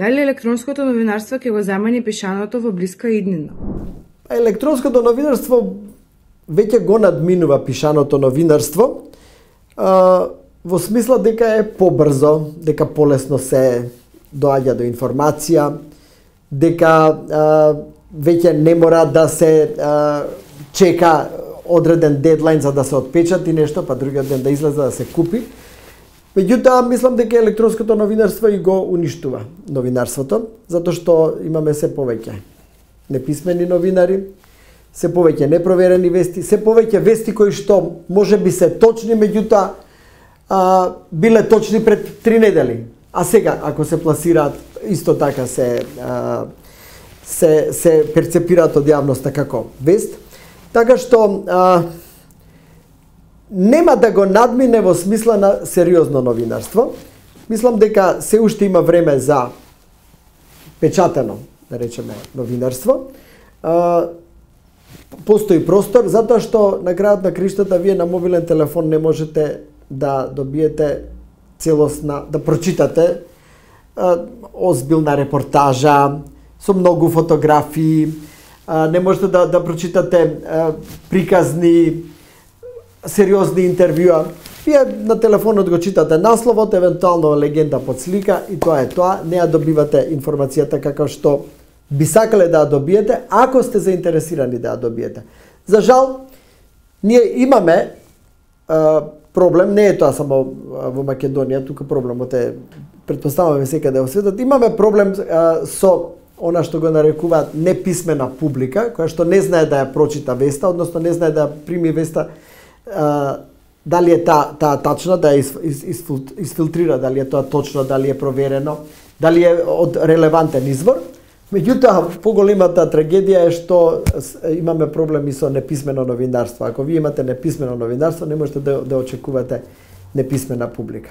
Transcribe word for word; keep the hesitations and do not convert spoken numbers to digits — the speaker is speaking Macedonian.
Дали електронското новинарство ќе го замени пишаното во блиска иднина? Електронското новинарство веќе го надминува пишаното новинарство, а, во смисла дека е побрзо, дека полесно се доаѓа до информација, дека а, веќе не мора да се а, чека одреден дедлайн за да се отпечати нешто, па другиот ден да излезе да се купи. Меѓутоа, мислам дека електронското новинарство и го уништува новинарството, затоа што имаме се повеќе неписмени новинари, се повеќе непроверени вести, се повеќе вести кои што може би се точни, меѓутоа а, биле точни пред три недели. А сега, ако се пласираат, исто така се, а, се, се перцепираат од јавноста како вест. Така што а, нема да го надмине во смисла на сериозно новинарство. Мислам дека се уште има време за печатено, да речеме, новинарство. А, постои простор, затоа што на крајот на криштата вие на мобилен телефон не можете да добиете целосна, да прочитате а, озбилна репортажа со многу фотографии, а, не можете да, да прочитате а, приказни, сериозни интервјуа. Вие на телефонот го читате насловот, евентуално легенда под слика и тоа е тоа. Не ја добивате информацијата како што би сакале да ја добиете, ако сте заинтересирани да ја добиете. За жал, ние имаме а, проблем, не е тоа само во Македонија, тука проблемот е, претпоставуваме секаде во светот, имаме проблем а, со она што го нарекуваат неписмена публика, која што не знае да ја прочита веста, односно не знае да ја прими веста, а, дали е таа та тачна, да ја из, из, изфилтрира, дали е тоа точно, дали е проверено, дали е од релевантен извор. Меѓутоа, поголемата трагедија е што имаме проблеми со неписмено новинарство. Ако вие имате неписмено новинарство, не можете да, да очекувате неписмена публика.